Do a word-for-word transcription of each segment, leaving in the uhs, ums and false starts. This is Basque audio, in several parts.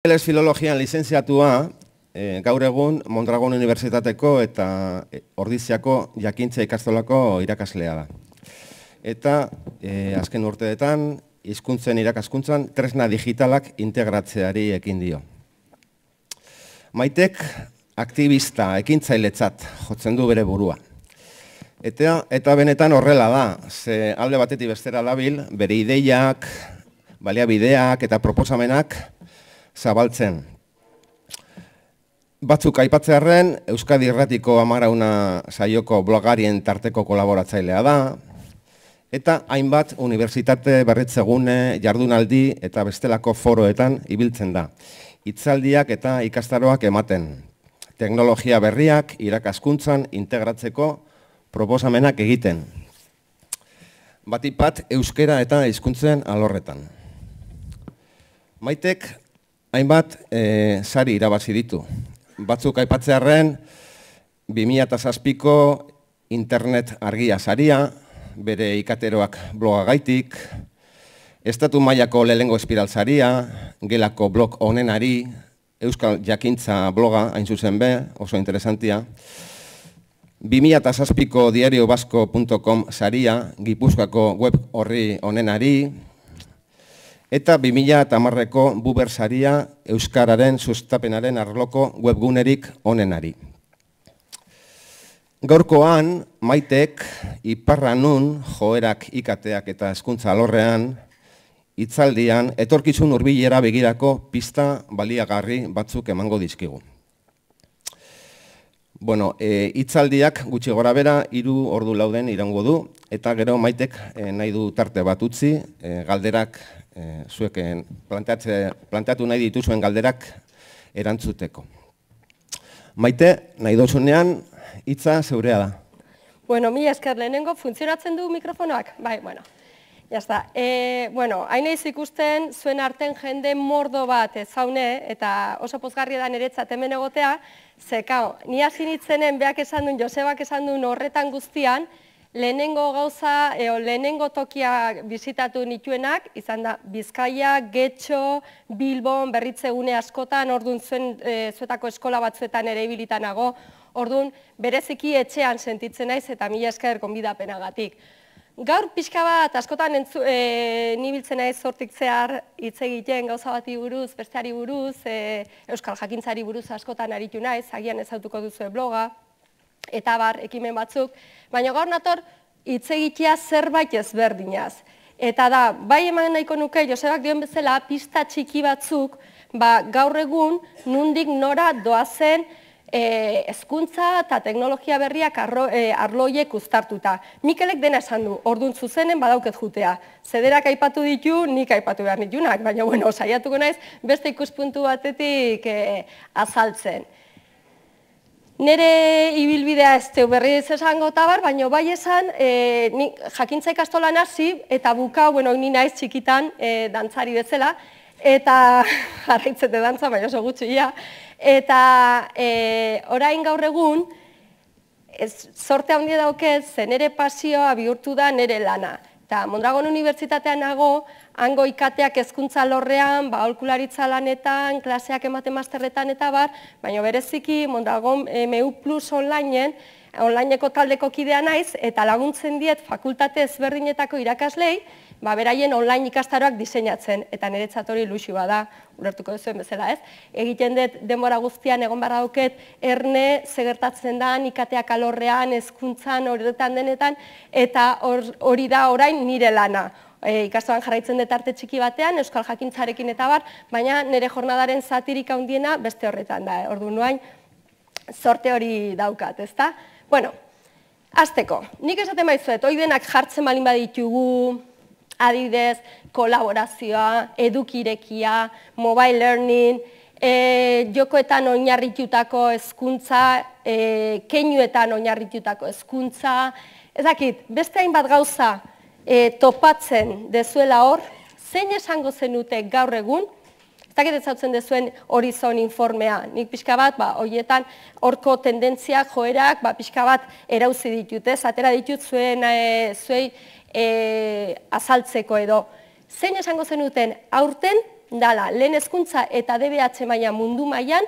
Ingeles filologian lizentziatua, e, gaur egun Mondragon Unibertsitateko eta Ordiziako jakintza ikastolako irakaslea da. Eta e, azken urteetan, hizkuntzen irakaskuntzan tresna digitalak integratzeari ekin dio. Maitek aktivista ekintzailetzat jotzen du bere burua. Eta, eta benetan horrela da, ze alde batetik bestera dabil, bere ideiak, baliabideak eta proposamenak zabaltzen. Batzuk aipatzearren, Euskadi Irratiko Amarauna saioko blogarien tarteko kolaboratzailea da, eta hainbat unibertsitate berritzegune, jardunaldi eta bestelako foroetan ibiltzen da. Hitzaldiak eta ikastaroak ematen. Teknologia berriak irakaskuntzan integratzeko proposamenak egiten. Batipat euskera eta hizkuntzen alorretan. Maitek hainbat e, sari irabazi ditu. Batzuk aipatzearren, bi mila zazpiko internet argia saria, bere ikateroak blogagaitik, estatu mailako lehengo espiral saria, gelako blog onenari, Euskal Jakintza bloga, hain zuzen be, oso interesantia, bi mila zazpiko diario basko puntu com saria, Gipuzkoako web horri onenari, eta bi mila hamareko Buber saria Euskararen sustapenaren arloko webgunerik onenari. Gaurkoan, Maitek, iparra nun, joerak ikateak eta hezkuntza alorrean, hitzaldian, etorkizun hurbilera begirako pista baliagarri batzuk emango dizkigu. Bueno, hitzaldiak e, gutxi gora bera, hiru ordu lauden irango du, eta gero Maitek e, nahi du tarte bat utzi, e, galderak, e, zueken planteatu nahi dituzuen galderak erantzuteko. Maite, nahi dozunean, hitza zeurea da. Bueno, mila esker lehenengo, funtzionatzen du mikrofonoak? Bai, bueno, jazta. E, bueno, hain naiz ikusten zuen arten jende mordo bat zaune, eta oso pozgarria da niretzat hemen egotea, ze, kao, ni hasi nitzenen beak esan duen, Josebak esan duen horretan guztian, lehenengo gauza, eo, lehenengo tokia bizitatu nituenak, izan da Bizkaia, Getxo, Bilbon, berritzegune askotan, orduan zuen, e, zuetako eskola batzuetan ere ibilitanago, orduan bereziki etxean sentitzen naiz eta mila esker gonbidapenagatik. Gaur pixka bat, askotan entzu, e, nibiltzen naiz hortik zehar hitz egiten gauza bati buruz, besteari buruz, e, Euskal Jakintzari buruz askotan aritu naiz, agian ezautuko duzue bloga, eta bar, ekimen batzuk, baina gaur nator hitz egitea zerbait ezberdinaz. Eta da, bai eman nahiko nuke, Josebak dion bezala, pista txiki batzuk, ba, gaur egun nundik nora doazen E, hezkuntza eta teknologia berriak arro, e, arloiek uztartuta. Mikelek dena esan du, orduan zuzenen badauket jutea. Zederak aipatu ditu, nik aipatu behar nitunak, baina bueno, saiatuko naiz beste ikuspuntu batetik e, azaltzen. Nere ibilbidea ez teu berriz esango tabar, baina bai esan, e, ni jakintza ikastolan hasi eta buka, bueno, ni naiz txikitan e, dantzari bezala, eta jarraitzete dantza, baina oso gutxia, eta e, orain gaur egun, ez, sorte handia daukez, ze nere pasioa bihurtu da nere lana. Eta Mondragon Unibertsitatean nago, hango ikateak hezkuntza alorrean, ba, aholkularitza lanetan, klaseak ematen masterretan eta bar, baina bereziki Mondragon M U plus onlineen, onlineko taldeko kidea naiz, eta laguntzen diet fakultate ezberdinetako irakaslei, ba, beraien online ikastaroak diseinatzen, eta niretzat hori ilusio bada, ulertuko duzuen bezala, ez? Egiten dut denbora guztian egon barra dauket, erne zegertatzen da, ikateak alorrean, hezkuntzan, horretan denetan, eta hori da orain nire lana. E, ikastoan jarraitzen dut arte txiki batean, Euskal Jakintzarekin eta bar, baina nire jornadaren zatirik handiena beste horretan da, ordu nuain, sorte hori daukat, ezta? Bueno, hasteko, nik esaten baizuet, hoi denak jartzen balin baditugu, adibidez, kolaborazioa, edukirekia, mobile learning, e, jokoetan oinarritutako hezkuntza, e, keinuetan oinarritutako hezkuntza, ez dakit, beste hainbat gauza e, topatzen dezuela hor, zein esango zenute gaur egun, ez dakit ezautzen dezuen Horizon informea, nik pixka bat, ba, horietan horko tendentziak, joerak, ba, pixka bat erauzi ditut, ez, atera ditut zuen, e, zuei, E, azaltzeko edo. Zein esango zenuten aurten dala, lehen hezkuntza eta D B H maila mundu mailan,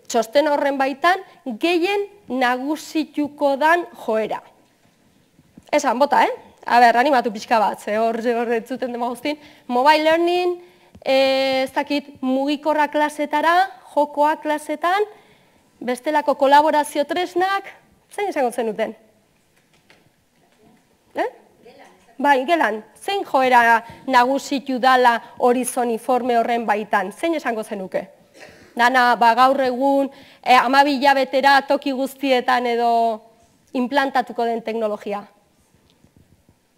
txosten horren baitan, gehien nagusituko dan joera. Esan, bota, eh? A ber, animatu pixka bat, ze hor zuten dema guztin. Mobile learning, ez dakit, mugikorra klasetara, jokoa klasetan, bestelako kolaborazio tresnak, zein izango zenuten? Eh? Bai, gelan, zein joera nagusitu dala horizoniforme horren baitan, zein esango zenuke? Dana, ba, gaur egun, eh, hamabi hilabetera toki guztietan edo implantatuko den teknologia.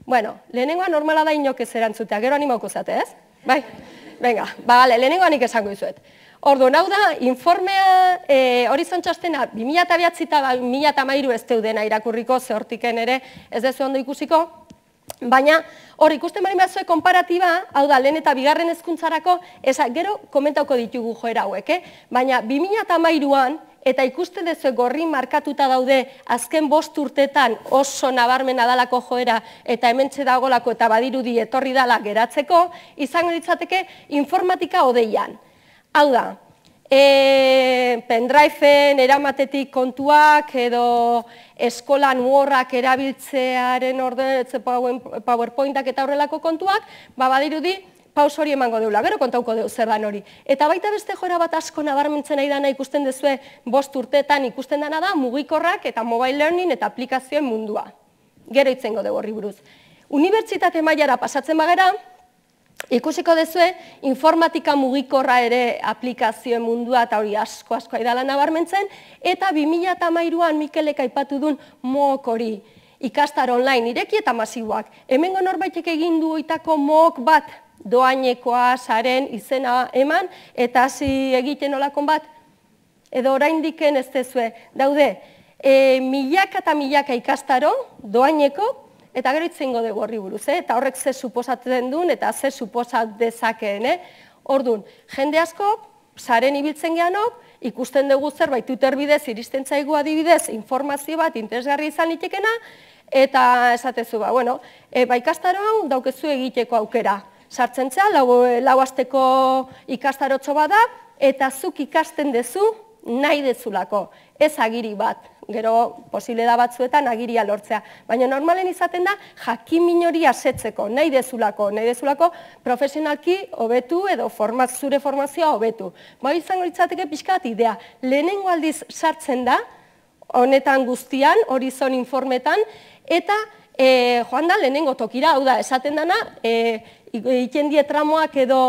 Bueno, lehenengoa normala da inok ez erantzutea, gero animauko zate, ez? Bai, venga, ba, gale, lehenengoa nik esango izuet. Orduan, hau da, informea, e, horizon txostena, bi mila bederatzi eta bi mila hamairu ez deudena irakurriko, ze hortiken ere ez dezu ondo ikusiko, baina hor ikusten bari bazue konparatiba, hau da, lehen eta bigarren hezkuntzarako, eza, gero komentauko ditugu joera hauek, eh? Baina bi mila hamairuan, eta ikusten dezu gorri markatuta daude azken bost urtetan oso nabarmena dalako joera eta hementxe dagolako eta badirudi etorri dala geratzeko, izango ditzateke informatika odeian. Hau da, e, pendriven eramatetik kontuak edo eskolan Wordak erabiltzearen orden, PowerPointak eta horrelako kontuak, ba badirudi paus hori emango deula, gero kontauko deu zer dan hori. Eta baita beste joera bat asko nabarmentzen nahi dana ikusten dezue bost urteetan ikusten dana da mugikorrak eta mobile learning eta aplikazioen mundua. Gero itzengo deu horri buruz. Unibertsitate mailara pasatzen bagera, ikusiko dezue informatika mugikorra ere aplikazioen mundua eta hori asko asko aidala nabarmentzen, eta bi mila hamairuan Mikelek aipatu duen mook hori. Ikastar online ireki eta masiboak. Hemengo norbaitek egin du oitako mook bat, doainekoa, saren, izena eman, eta hasi egiten olakon bat, edo oraindiken ez dezue. Daude, e, milaka eta milaka ikastaro, doaineko, eta gero itzengo dugu horri buruz, eh? Eta horrek ze suposatzen duen, eta ze suposat dezakeen. Eh? Orduan, jende asko, saren ibiltzen geanok, ikusten dugu zerbait Twitter bidez, iristen zaigu adibidez, informazio bat, interesgarri izan litekena, eta esatezu, ba, bueno, e, ba, ikastaro hau daukezu egiteko aukera. Sartzen zea, lau, lau asteko ikastarotxo bada, eta zuk ikasten dezu nahi dezulako. Ez agiri bat, gero posible da batzuetan agiria lortzea. Baina normalen izaten da, jakin hori asetzeko, nahi dezulako, nahi dezulako profesionalki hobetu edo forma, zure formazioa hobetu. Ba, izango litzateke pixkat idea. Lehenengo aldiz sartzen da, honetan guztian, horizon informetan, eta e, joan da lehenengo tokira, hau da, esaten dana, e, egiten die tramoak edo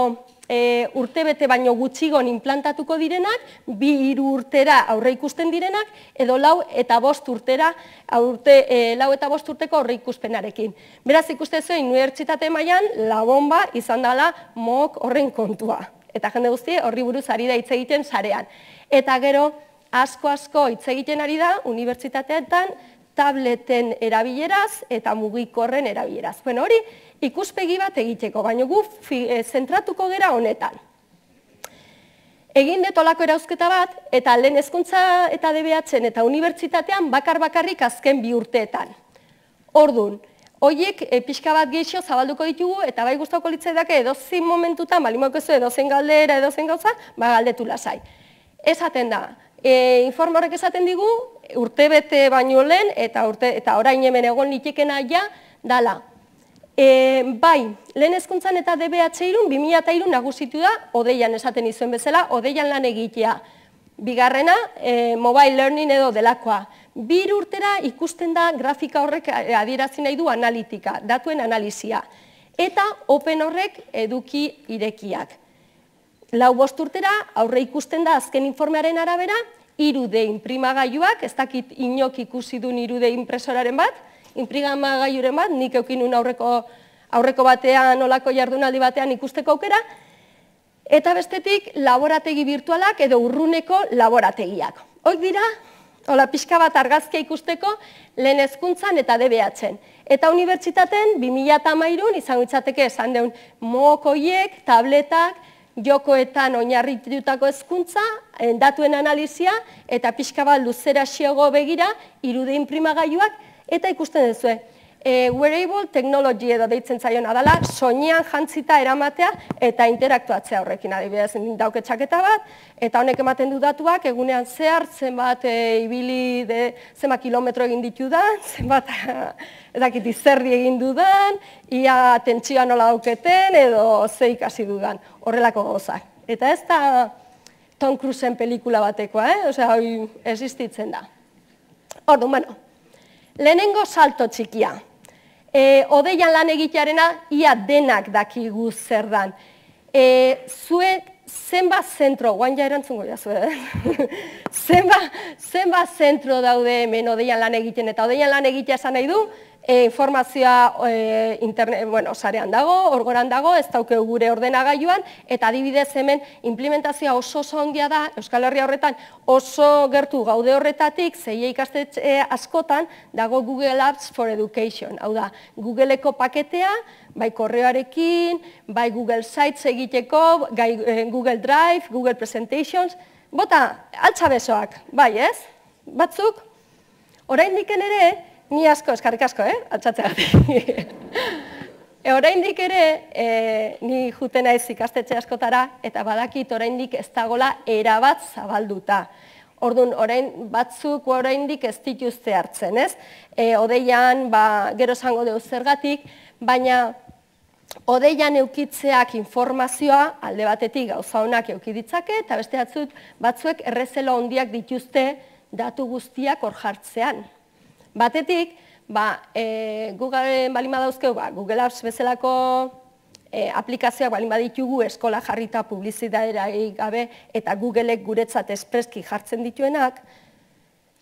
e, urtebete baino gutxigon implantatuko direnak, bi hiru urtera aurre ikusten direnak, edo lau eta bost urtera, aurte, e, lau eta bost urteko aurre ikuspenarekin. Beraz ikuste zuen, unibertsitate mailan la bomba izan dela mook horren kontua. Eta jende guzti horri buruz ari da hitz egiten sarean. Eta gero, asko-asko hitz egiten ari da, unibertsitateetan, tableten erabileraz eta mugikorren erabileraz. Bueno, hori ikuspegi bat egiteko, baina gu zentratuko gera honetan. Egin detolako erauzketa bat, eta lehen hezkuntza eta D B H-en eta unibertsitatean bakar-bakarrik azken bi urteetan. Ordun, horiek e, pixka bat geixo zabalduko ditugu, eta bai gustatuko litzaidake edozein momentutan, balimaukezu edozein galdera, edozein gauza, ba galdetu lasai. Esaten da, e, informe horrek esaten digu, urte bete baino lehen, eta, urte, eta orain hemen egon litekena ja, dala. E, bai, lehen hezkuntzan eta D B H irun, bi mila hiru nagusitu da, odeian esaten izuen bezala, odeian lan egitea. Bigarrena, e, mobile learning edo delakoa. Bir urtera ikusten da grafika horrek adierazi nahi du analitika, datuen analizia. Eta open horrek eduki irekiak. Lau bost urtera, aurre ikusten da azken informearen arabera, hiru D inprimagailuak, ez dakit inok ikusi duen hiru D impresoraren bat, inprimagailuren bat, nik eukinun aurreko, aurreko batean, olako jardunaldi batean ikusteko aukera, eta bestetik laborategi virtualak edo urruneko laborategiak. Hoik dira, hola pixka bat argazkia ikusteko lehen hezkuntzan eta D B H-en. Eta unibertsitaten bi mila hamairun izango itzateke esan deun mokoiek, tabletak, jokoetan oinarritutako hezkuntza, datuen analizia eta pixka bat luzera xiogo begira, hiru D inprimagailuak, eta ikusten duzue. wearable technology edo deitzen zaiona dela, soinean jantzita eramatea eta interaktuatzea horrekin, adibidez dauke txaketa bat, eta honek ematen du datuak, egunean zehar, zenbat ibili, zenbat kilometro egin ditudan, zenbat, edakit izerdi egin dudan, ia tentsioa nola dauketen, edo ze ikasi dudan, horrelako gauzak. Eta ez da Tom Cruiseen pelikula batekoa, eh? Osea, hori existitzen da. Orduan, bueno, lehenengo salto txikia. Odeian lan egitearena, ia denak dakigu zer dan. Zuek, zenbat zentro, guain ja erantzungo jazu, eh? Zenbat zentro daude hemen odeian lan egiten, eta odeian lan egitea esan nahi du, informazioa sarean dago, orgoran dago, ez dauke gure ordenagailuan, eta adibidez hemen implementazioa oso oso ondia da, Euskal Herria horretan oso gertu gaude horretatik, zeia ikastetxe askotan dago Google Apps for Education, hau da, Googleeko paketea, bai korreoarekin, bai Google Sites egiteko, Google Drive, Google Presentations, bota, altza besoak, bai ez? Batzuk, oraindik ere, ni asko, eskarrik asko, eh? Altzatzeagatik. Oraindik ere, ni juten naiz ikastetxe askotara, eta badakit oraindik ez dagola erabat zabalduta. Orduan, orain batzuk oraindik ez dituzte hartzen, ez? Odeian, gero esango dugu zergatik, baina odeian eukitzeak informazioa alde batetik gauza honak eukiditzake, eta beste batzuek errezelo handiak dituzte datu guztiak hor jartzean. Batetik, Google balin badauzkeu, Google Apps bezalako aplikazioak balin baditugu eskola jarrita publizitatea gabe eta Googleek guretzat espreski jartzen dituenak,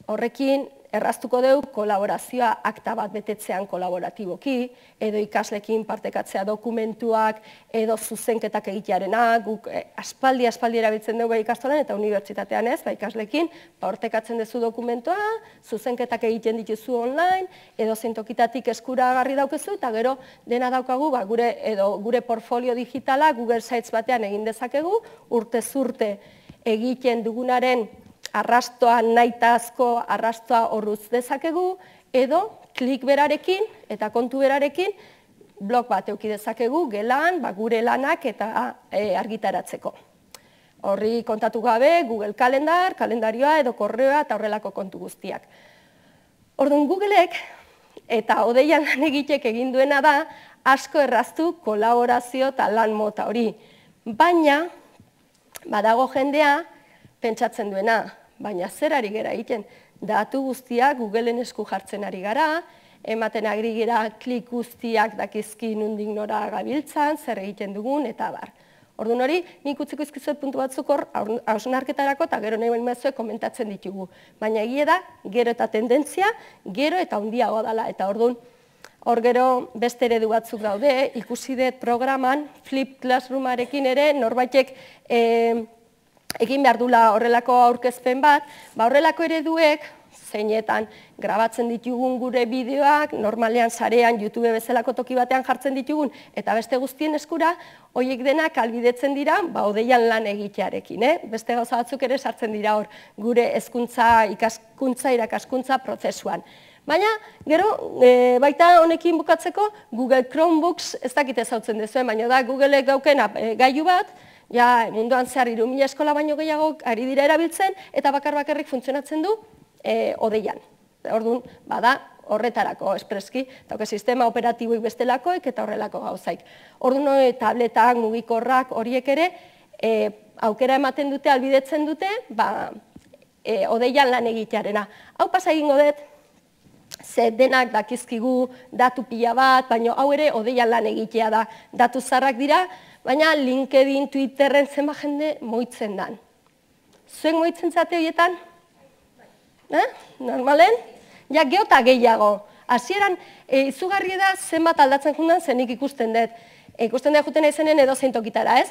horrekin erraztuko dugu kolaborazioa akta bat betetzean kolaboratiboki, edo ikaslekin partekatzea dokumentuak, edo zuzenketak egitearena, guk aspaldi aspaldi erabiltzen dugu ikastolan eta unibertsitatean ez, ikaslekin, partekatzen duzu dokumentua, zuzenketak egiten dituzu online, edo zentokitatik eskuragarri daukezu, eta gero dena daukagu, edo gure portfolio digitala Google Sites batean egin dezakegu, urtez urte egiten dugunaren arrastoa nahitazko arrastoa horruz dezakegu, edo klik berarekin eta kontu berarekin blog bat euki dezakegu gelan, gure lanak eta argitaratzeko. Horri kontatu gabe, Google Kalendar, kalendarioa edo korreoa eta horrelako kontu guztiak. Orduan Googleek eta odeian lan egitek egin duena da asko erraztu kolaborazio eta lan mota hori. Baina, badago jendea pentsatzen duena, baina zer ari gara egiten, datu guztiak Googleen esku jartzen ari gara, ematen ari gara klik guztiak dakizki nondik nora gabiltzan, zer egiten dugun, eta bar. Orduan hori, nik utziko izkizuet puntu batzuk hor, hausnarketarako eta gero nahi baino komentatzen ditugu. Baina egia da, gero eta tendentzia, gero eta handiagoa dela, eta orduan, hor gero beste eredu batzuk daude, ikusi dut programan, Flip Classroomarekin ere, norbaitek egin behar dula horrelako aurkezpen bat, horrelako ereduek, zeinetan grabatzen ditugun gure bideoak, normalean sarean, YouTube bezalako toki batean jartzen ditugun, eta beste guztien eskura, horiek denak albidetzen dira, odeian lan egitearekin, beste gauza batzuk ere sartzen dira hor, gure hezkuntza, ikaskuntza, irakaskuntza prozesuan. Baina, gero, baita honekin bukatzeko, Google Chromebooks ez dakit ezautzen dezuen, baina da Googleek dauken gailu bat, ja, munduan zehar hiru mila eskola baino gehiago ari dira erabiltzen, eta bakar-bakarrik funtzionatzen du odeian. Orduan, bada, horretarako espreski, dauke sistema operatiboik bestelakoik eta horrelako gauzaik. Orduan, tabletak, mugikorrak, horiek ere, aukera ematen dute, albidetzen dute, odeian lan egitearena. Hau pasa egingo dut, ze denak dakizkigu datu pila bat, baina hau ere odeian lan egitea da. Datu zarrak dira, baina LinkedIn, Twitterren zenba jende moitzen dan. Zuen moitzen zate horietan? Normalen? Ja, geota gehiago. Hasieran, izugarri da zenbat aldatzen jundan zenik ikusten dut. Ikusten dut juten ezenen edo zeintokitara, ez?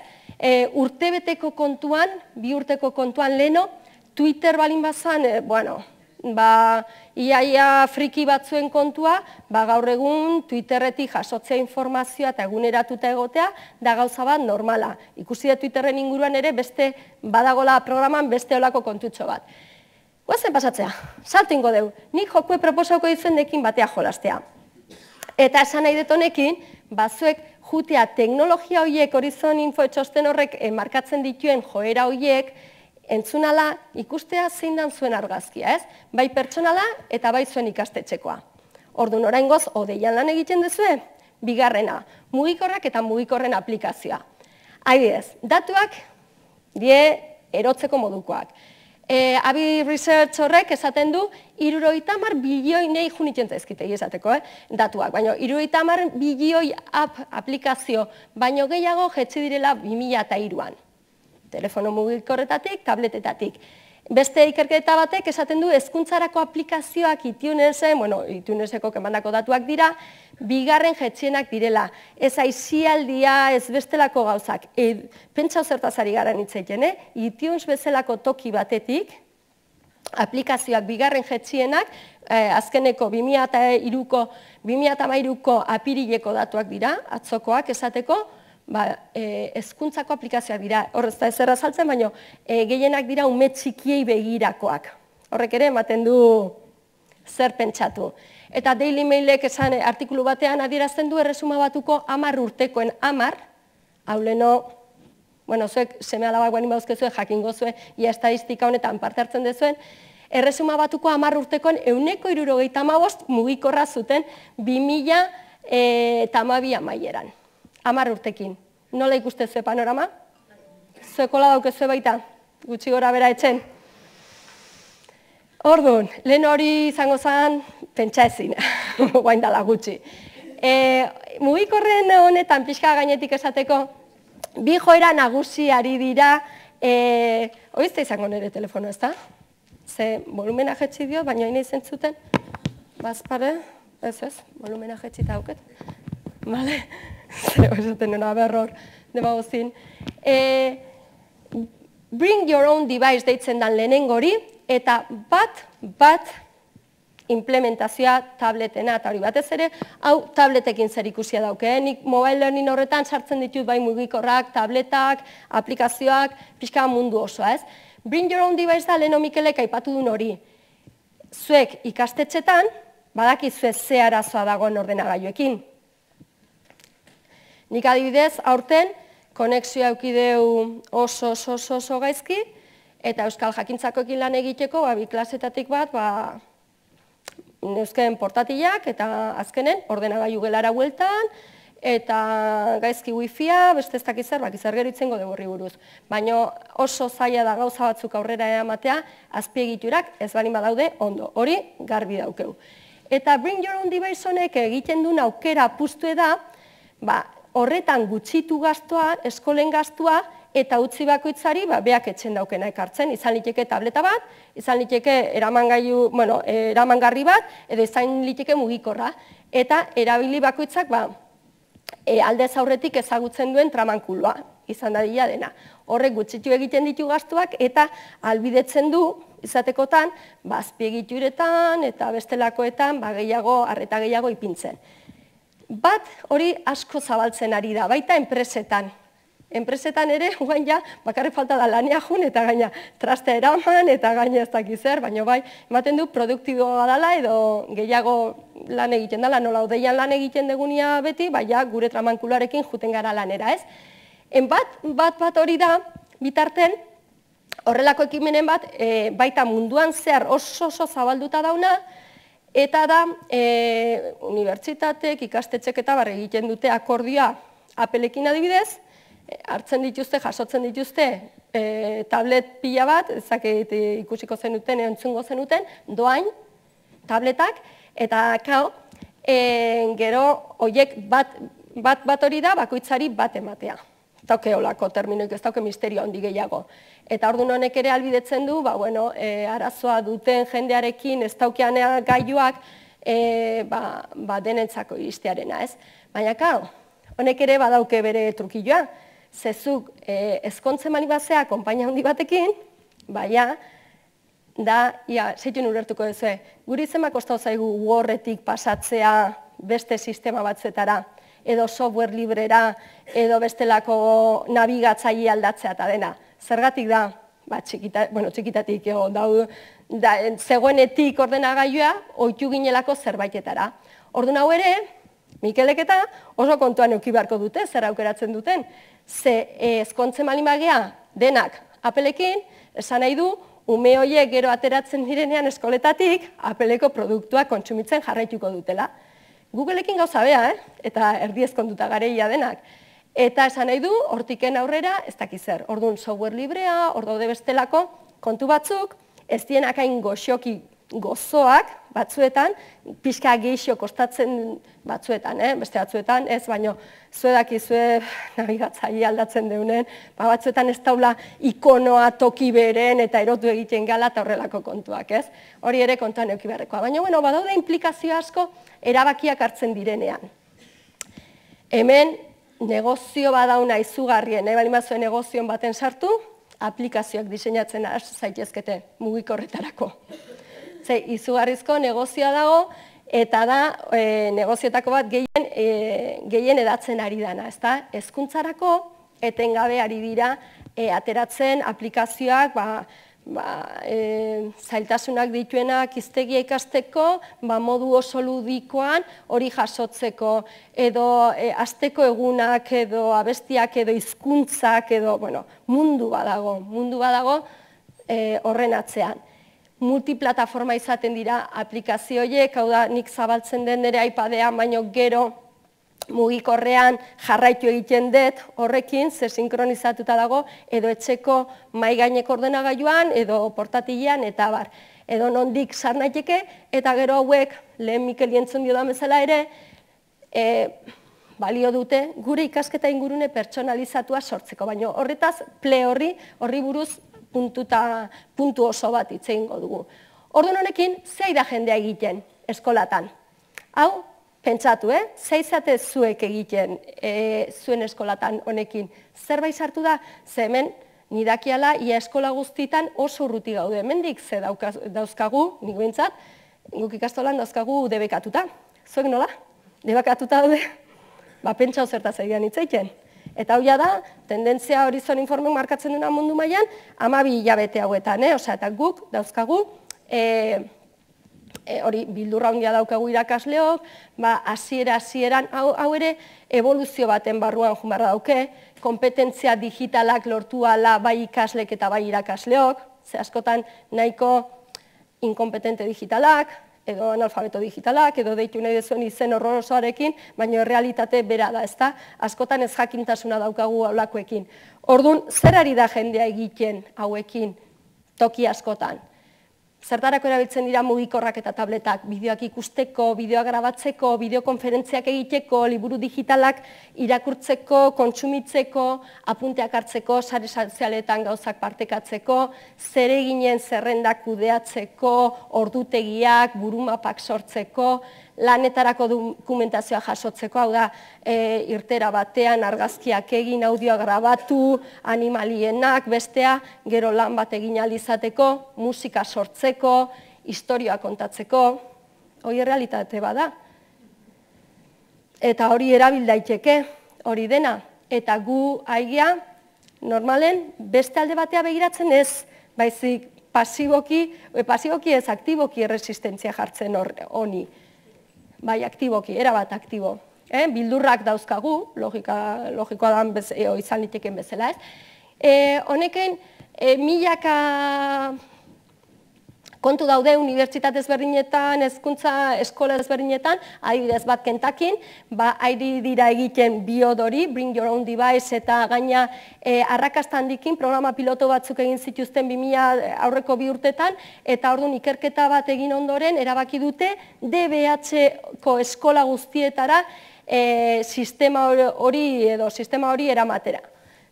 Urtebeteko kontuan, bi urteko kontuan leheno, Twitter balin bazan, bueno, ba, iaia friki batzuen kontua, ba, gaur egun Twitterretik jasotzea informazioa eta eguneratuta egotea, da gauza bat normala. Ikusi da Twitterren inguruan ere, beste badagola programan beste olako kontutxo bat. Guazen pasatzea, salto ingo deu, nik jokue proposauko ditzen dekin batea jolastea. Eta esan nahi dut honekin, bazuek jutea teknologia horiek, Horizon Info txosten horrek markatzen dituen joera horiek, entzunala ikustea zein dan zuen argazkia, ez? Bai pertsonala eta bai zuen ikastetxekoa. Orduan oraingoz, odeian lan egiten duzue, bigarrena, mugikorrak eta mugikorren aplikazioa. Adibidez, datuak die erotzeko modukoak. Abi Research horrek esaten du, hirurogeita hamar bilioi nei junitzen zaizkite esateko, datuak, baina hirurogeita hamar bilioi app aplikazio, baino gehiago jetzi direla bi mila hiruan. Telefono mugikorretatik, tabletetatik. Beste ikerketa batek esaten du hezkuntzarako aplikazioak iTunesen, bueno, iTuneseko kemandako datuak dira, bigarren jetzienak direla. Ez aizialdia, ez bestelako gauzak. Pentsa zertazari gara nitzeiten, eh? iTunes bezalako toki batetik, aplikazioak bigarren jetzienak, azkeneko bi mila hiruko, bi mila hamairuko apirileko datuak dira, atzokoak esateko, hezkuntzako aplikazioak dira, horrez da ezerra saltzen, baina gehienak dira ume txikiei begirakoak. Horrek ere ematen du zer pentsatu. Eta Daily Mailek esan artikulu batean adierazten du erresuma batuko hamar urtekoen hamar, hau leno, bueno, zuek seme alabak bani bauzkezue, jakingo zuen, ia estadistika honetan parte hartzen dezuen, erresuma batuko hamar urtekoen euneko hirurogeita hamabost mugikorra zuten bi mila hamabi amaieran. Hamar urtekin. Nola ikuste zue panorama? Zuekola daukezue baita, gutxi gora bera etxen. Orduan, lehen hori izango zen, pentsa ezin, guain dala gutxi. Mugikorren honetan pixka gainetik esateko, bi joera nagusi ari dira, oizte izango nire telefono, ez da? Ze volumena jetzi dio, baina hain izen zuten, bazpare, ez ez, volumena jetzi eta auket. Bale? Zero esaten nena berror, demagozin. Bring your own device deitzen dan lehenengori, eta bat, bat implementazioa tabletena, eta hori batez ere, hau tabletekin zer ikusia dauke. Nik mobile learning horretan sartzen ditut bai mugikorrak, tabletak, aplikazioak, pixka mundu osoa, ez? Bring your own device da leheno Mikelek aipatu duen hori. Zuek ikastetxetan, badakizue ze arazoa dagoen ordenagailuekin. Nik adibidez, aurten, konexioa eukideu oso, oso, oso, oso gaizki, eta Euskal Jakintzakoekin lan egiteko, bi klasetatik bat, neuzken portatilak, eta azkenen, ordenagailu gelara bueltan, eta gaizki wifia, beste ez dakizzer, bakizzer geritzen gode borri buruz. Baina oso zaila da gauza batzuk aurrera eramatea, azpiegiturak ez balin badaude ondo, hori garbi daukeu. Eta Bring Your Own Device honek egiten duen aukera puztu da, ba, horretan gutxitu gaztua, eskolen gaztua, eta utzi bakoitzari beak etxen daukena ekartzen. Izan liteke tableta bat, izan liteke eramangarri bat, edo izan liteke mugikorra. Eta erabili bakoitzak aldez aurretik ezagutzen duen tramankuloa, izan dadila dena. Horrek gutxitu egiten ditu gaztuak, eta albidetzen du, izatekotan, azpiegituretan eta bestelakoetan gehiago, arreta gehiago ipintzen. Bat hori asko zabaltzen ari da, baita enpresetan. Enpresetan ere, guain ja, bakarrik falta da lanea jun, eta gaina trastea eraman, eta gaina ez dakizer, baina bai, ematen du produktiboa dela, edo gehiago lan egiten dela, nola odeian lan egiten degunia beti, baina gure tramankularekin juten gara lanera, ez? Bat, bat, bat hori da, bitarten, horrelako ekimenen bat, baita munduan zehar oso oso zabalduta dauna, eta da, unibertsitatek, ikastetxek eta barri egiten dute akordioa Appleekin adibidez, hartzen dituzte, jasotzen dituzte tablet pila bat, ezakit ikusiko zenuten, entzungo zenuten, doain, tabletak, eta kao, gero, oiek bat bat hori da, bakoitzari bat ematea. Ez dauke olako terminoik, ez dauke misterio handi gehiago. Eta orduan honek ere albidetzen du, arazoa duten jendearekin ez daukean gailuak denentzako iristearena, ez? Baina, kao, honek ere badauke bere trukilloa. Zezuk ezkontzen mani bazea, konpainia handi batekin, baina, da, ia, zeitun urertuko duzue, guri zenba kostau zaigu Wordretik pasatzea beste sistema batzetara, edo software librera, edo bestelako nabigatzaile aldatzea eta dena. Zergatik da, bueno, txikitatik, zegoenetik ordenagailua, ohitu ginelako zerbaitetara. Orduan hau ere, Mikelek eta oso kontuan eduki beharko dute, zer aukeratzen duten. Ze ezkontzen malin bagea denak Appleekin, esan nahi du, ume horiek gero ateratzen direnean eskoletatik, Appleko produktuak kontsumitzen jarraituko dutela. Googleekin gauza bea, eh? Eta erdi ezkonduta gareia denak. Eta esan nahi du, hortiken aurrera, ez dakiz zer, orduan software librea, hor daude bestelako kontu batzuk, ez dienak hain goxoki gozoak batzuetan, pixka geixo kostatzen batzuetan, eh? Beste batzuetan, ez, baino zuedakizue nabigatzaile aldatzen deunen, ba, batzuetan ez daula ikonoa toki beren eta erotu egiten gala eta horrelako kontuak, ez? Hori ere kontuan eduki beharrekoa. Baina, bueno, badaude implikazio asko erabakiak hartzen direnean. Hemen, negozio badauna izugarrien, nahi bali mazuen negozioen baten sartu, aplikazioak diseinatzen has zaitezkete mugikorretarako. Ze, izugarrizko negozioa dago, eta da e, negozioetako bat gehien, e, gehien edatzen ari dana, ezta? Hezkuntzarako etengabe ari dira e, ateratzen aplikazioak, ba, ba, e, zailtasunak dituenak hiztegia ikasteko, ba, modu oso ludikoan hori jasotzeko, edo e, asteko egunak, edo abestiak, edo hizkuntzak, edo, bueno, mundu badago, mundu badago e, horren atzean. Multiplataforma izaten dira aplikazioiek, hau da nik zabaltzen den nire iPadean, baino gero mugikorrean jarraitu egiten dut horrekin, ze sinkronizatuta dago, edo etxeko mahai gaineko ordenagailuan, edo portatilean, eta bar. Edo nondik sar naiteke, eta gero hauek, lehen Mikel entzun dio da bezala ere, e, balio dute gure ikasketa ingurune pertsonalizatua sortzeko, baino horretaz ple horri, horri buruz, puntuta, puntu oso bat hitz egingo dugu. Orduan honekin, zei da jendea egiten eskolatan? Hau, pentsatu, eh? Zeizate zuek egiten e, zuen eskolatan honekin. Zerbait sartu da, ze hemen nidakiala ia eskola guztitan oso urruti gaude. Hemendik ze dauzkagu, nik behintzat, guk ikastolan dauzkagu debekatuta. Zuek nola? Debekatuta daude? Ba, pentsau zertaz egian hitz egiten. Eta hau da, tendentzia Horizon Informek markatzen duna mundu mailan, hamabi hilabete hauetan, eh? Osea, eta guk dauzkagu, e, e, hori bildurra handia daukagu irakasleok, ba, hasiera hasieran hau, hau ere evoluzio baten barruan joan behar dauke, kompetentzia digitalak lortu ala bai ikaslek eta bai irakasleok, ze askotan nahiko inkompetente digitalak, edo analfabeto digitalak, edo deitu nahi dezuen izen horrorosoarekin, baina realitate bera da, ezta? Askotan ez jakintasuna daukagu haulakoekin. Orduan, zer ari da jendea egiten hauekin toki askotan? Zertarako erabiltzen dira mugikorrak eta tabletak, bideoak ikusteko, bideoak grabatzeko, bideokonferentziak egiteko, liburu digitalak irakurtzeko, kontsumitzeko, apunteak hartzeko, sare sozialetan gauzak partekatzeko, zereginen zerrendak kudeatzeko, ordutegiak, burumapak sortzeko, lanetarako dokumentazioa jasotzeko, hau da, e, irtera batean argazkiak egin, audioa grabatu, animalienak, bestea, gero lan bat egin alizateko, musika sortzeko, historioa kontatzeko, hori realitate bada. Eta hori erabil daiteke, hori dena, eta gu aigia, normalen, beste alde batea begiratzen ez, baizik pasiboki, pasiboki ez aktiboki erresistentzia jartzen honi. Bai, aktiboki, erabat aktibo. Eh? Bildurrak dauzkagu, logika, logikoa da e, izan liteken bezala, ez? E, honeken, e, milaka kontu daude unibertsitate ezberdinetan, hezkuntza eskola ezberdinetan, adibidez bat Kentakin, ba, ari dira egiten biodori, bring your own device, eta gaina e, arrakasta handikin programa piloto batzuk egin zituzten bi mila aurreko bi urtetan, eta orduan ikerketa bat egin ondoren, erabaki dute D B H-ko eskola guztietara e, sistema hori edo sistema hori eramatera.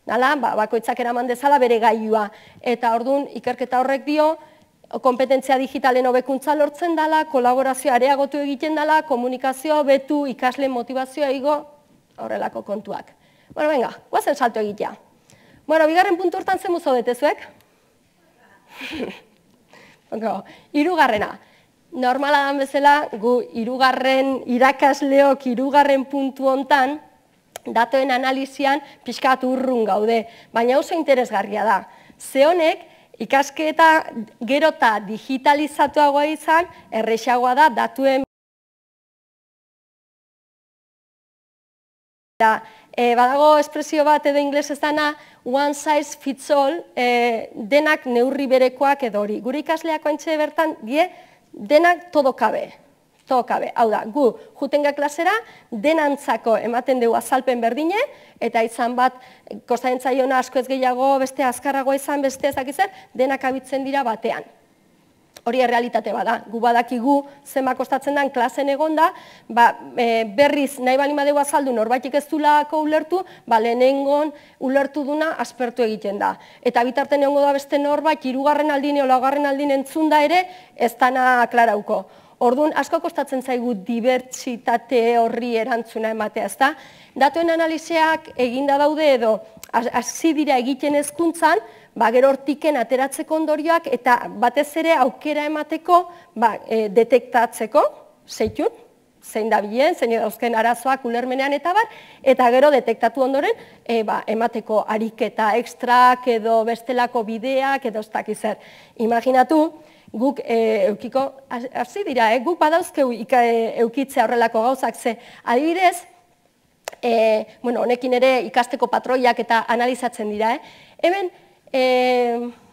Nala, ba, bakoitzak eraman dezala bere gailua, eta orduan ikerketa horrek dio, kompetentzia digitalen hobekuntza lortzen dela, kolaborazioa areagotu egiten dela, komunikazioa hobetu, ikasle motivazioa igo, horrelako kontuak. Bueno, venga, guazen salto egitea. Bueno, bigarren puntu hortan zen muzo detezuek? Hirugarrena. Normala dan bezala, gu hirugarren irakasleok hirugarren puntu hontan, datoen analizian pixkat urrun gaude, baina oso interesgarria da. Ze honek, ikasketa gero eta digitalizatuagoa izan, errexagoa da datuen Badago espresio bat edo inglesez dana, one size fits all, denak neurri berekoak edo hori. Gure ikasleak ointxe bertan, die, denak todo kabe. Todo kabe. Hau da, gu, jutenga klasera, denantzako ematen dugu azalpen berdine, eta izan bat, kostatzen zaiona asko ez gehiago, beste azkarrago izan, beste ezakizer, denak abitzen dira batean. Hori errealitate bada, gu badakigu zenba kostatzen den klasen egonda, berriz nahi bali madegu azaldu norbaitik ez dulako ulertu, lehenengon ulertu duna aspertu egiten da. Eta bitarten egongo da beste norbait, hirugarren aldine o laugarren aldine entzunda ere, ez dana aklarauko. Orduan, asko kostatzen zaigu dibertsitate horri erantzuna ematea, ez da? Datuen analizeak eginda daude edo, hasi dira egiten hezkuntzan, gero hortiken ateratzeko ondorioak eta batez ere aukera emateko detektatzeko, zeitun, zein da bilen, zein dauzken arazoak ulermenean eta bar, eta gero detektatu ondoren emateko ariketa ekstrak edo bestelako bideak edo ez dakizer. Imaginatu, guk eukiko, hasi dira, guk badauzkeu eukitzea horrelako gauzak ze, adibidez, honekin ere ikasteko patroiak eta analizatzen dira, hemen,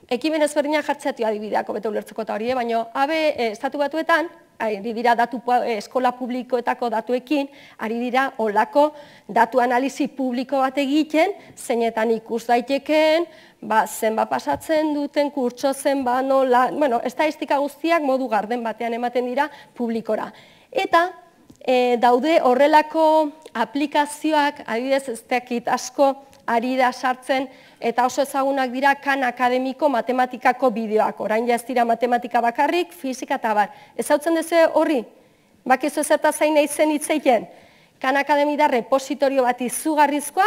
ekimen ezberdinak jartzeatu adibideako bete ulertzeko eta hori, baina abe estatu batuetan, ari dira eskola publikoetako datuekin, ari dira olako datu analizi publiko bat egiten, zeinetan ikus daiteken, zenba pasatzen duten, kurtso zenba, nola, bueno, estadistika guztiak modu garden batean ematen dira publikora. Eta daude horrelako aplikazioak, adibidez ez dakit asko, ari da sartzen, eta oso ezagunak dira Khan Akademiko matematikako bideoak. Orain ja ez dira matematika bakarrik, fizika eta bar. Ez hautzen duzu horri? Bakizu ezerta zain nahi zen hitzeiten? Khan Akademi da repositorio bat izugarrizkoa,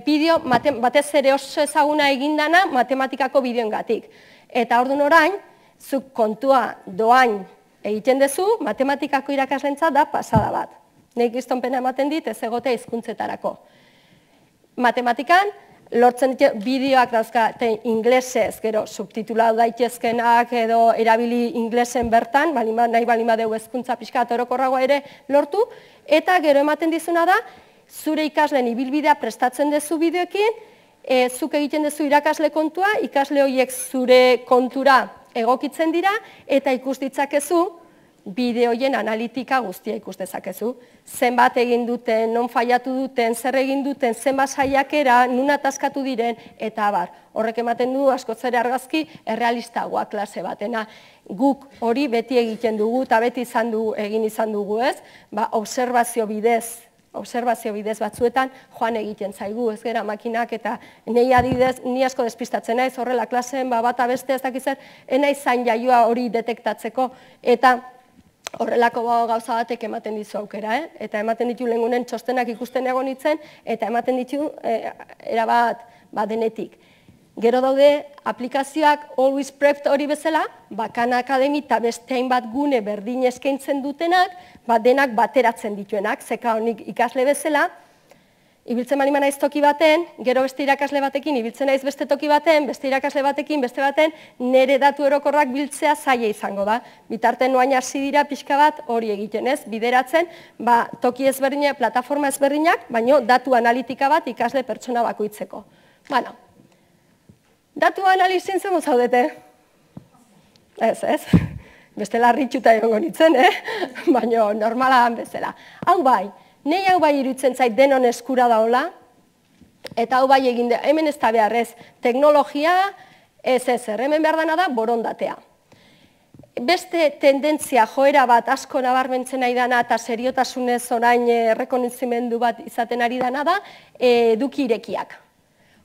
bideo batez ere oso ezaguna egindana matematikako bideoengatik. Eta orduan orain, zuk kontua doain egiten duzu, matematikako irakaslentza da pasada bat. Nik iztonpena ematen dit ez egotea hizkuntzetarako. Matematikan, lortzen bideoak dauzka inglesez, gero subtitulau daitezkenak edo erabili inglesen bertan, nahi balima dugu hezkuntza pixka orokorragoa ere lortu, eta gero ematen dizuna da, zure ikasleen ibilbidea prestatzen duzu bideoekin, zuk egiten duzu irakasle kontua, ikasle horiek zure kontura egokitzen dira, eta ikus ditzakezu, bideoien analitika guztia ikus dezakezu. Zenbat egin duten, non faiatu duten, zer egin duten, zenbat saiakera, nun ataskatu diren, eta abar. Horrek ematen du, askoz ere argazki, errealistagoa klase batena. Guk hori beti egiten dugu, eta beti egin izan dugu ez, obserbazio bidez, obserbazio bidez batzuetan joan egiten zaigu, ez gera makinak, eta nahi adidez, ni asko despistatzen naiz, horrela klaseen, bata beste ez dakizer, enaiz zain jaioa hori detektatzeko, eta horrelako gauza batek ematen dizu aukera, eta ematen ditu lehengunen txostenak ikusten egon nintzen, eta ematen ditu erabat denetik. Gero daude aplikazioak Always Prepped hori bezala, Khan Akademi eta beste hainbat gune berdin eskaintzen dutenak, denak bateratzen dituenak, zeka honik ikasle bezala, ibiltzen bali naiz toki baten, gero beste irakasle batekin, ibiltzen naiz beste toki baten, beste irakasle batekin, beste baten, nire datu orokorrak biltzea zaila izango da. Bitarten noain hasi dira pixka bat hori egiten ez, bideratzen, toki ezberdinak, plataforma ezberdinak, baino datu analitika bat ikasle pertsona bakoitzeko. Bueno, datu analizin zen zaudete? Ez, ez, beste larritxuta egongo nintzen, baino normala bezala. Hau bai, nei hau bai iruditzen zait denon eskura daola, eta hau bai egin da, hemen ez da beharrez, teknologia ez ezer, hemen behar dena da borondatea. Beste tendentzia joera bat asko nabarmentzen nahi dana eta seriotasunez orain errekonozimendu bat izaten ari dana da, eduki irekiak.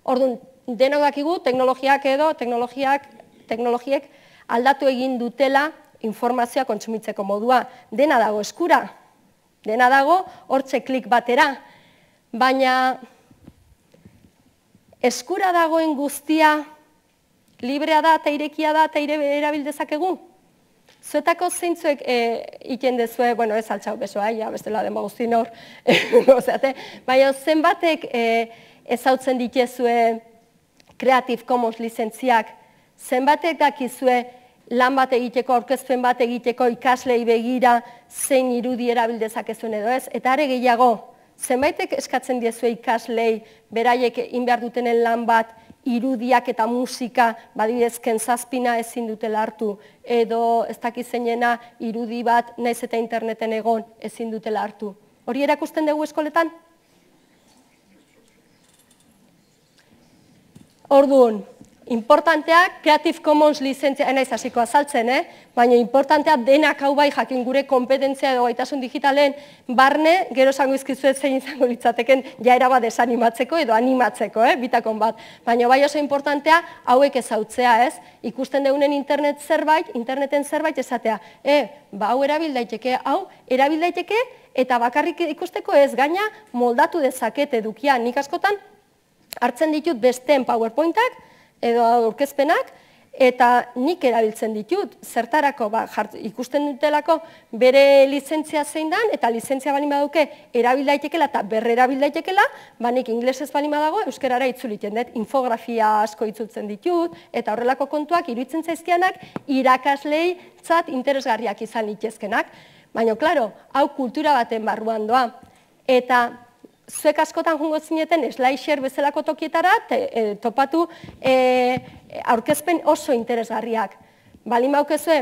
Orduan, denok dakigu teknologiak edo, teknologiek aldatu egin dutela informazioa kontsumitzeko modua. Dena dago eskura. Dena dago, hortze klik batera, baina eskura dagoen guztia librea da eta irekia da eta erabil dezakegu? Zuetako zeintzuek iten dezue, bueno, ez altxau besoa, ja, bestela denba guztien hor, baina zenbatek ezautzen ditezue Creative Commons lizentziak, zenbatek dakizue lan bat egiteko, aurkezpen bat egiteko ikaslei begira zein irudi erabil dezakezuen edo ez, eta are gehiago, zenbaitek eskatzen diezue ikaslei beraiek egin behar dutenen lan bat, irudiak eta musika, badidezken zazpina ezin dutela hartu, edo ez dakizeinena irudi bat naiz eta interneten egon ezin dutela hartu. Hori erakusten dugu eskoletan? Orduan, importanteak Creative Commons lizentzia, enaiz hasiko azaltzen, eh? Baina importantea denak hau bai jakin gure kompetentzia edo gaitasun digitalen barne, gero esango izkizuet zein izango litzateken jaera bat desanimatzeko edo animatzeko, eh? Bitakon bat. Baina bai oso importantea hauek ezautzea, ez? Ikusten deunen internet zerbait, interneten zerbait esatea, eh, ba hau erabil daiteke, hau erabil daiteke eta bakarrik ikusteko ez, gaina moldatu dezaket edukia. Nik askotan hartzen ditut besteen PowerPointak edo aurkezpenak, eta nik erabiltzen ditut, zertarako ikusten dutelako bere lizentzia zein dan, eta lizentzia balin baduke erabil daitekela eta berre erabil daitekela, ba nik inglesez balin badago euskarara itzuliten dut, infografia asko itzultzen ditut, eta horrelako kontuak iruditzen zaizkianak irakaslei zat interesgarriak izan litezkenak. Baina, klaro, hau kultura baten barruan doa, eta zuek askotan jungo zineten SlideShare bezalako tokietara topatu aurkezpen oso interesgarriak. Balin baukezue,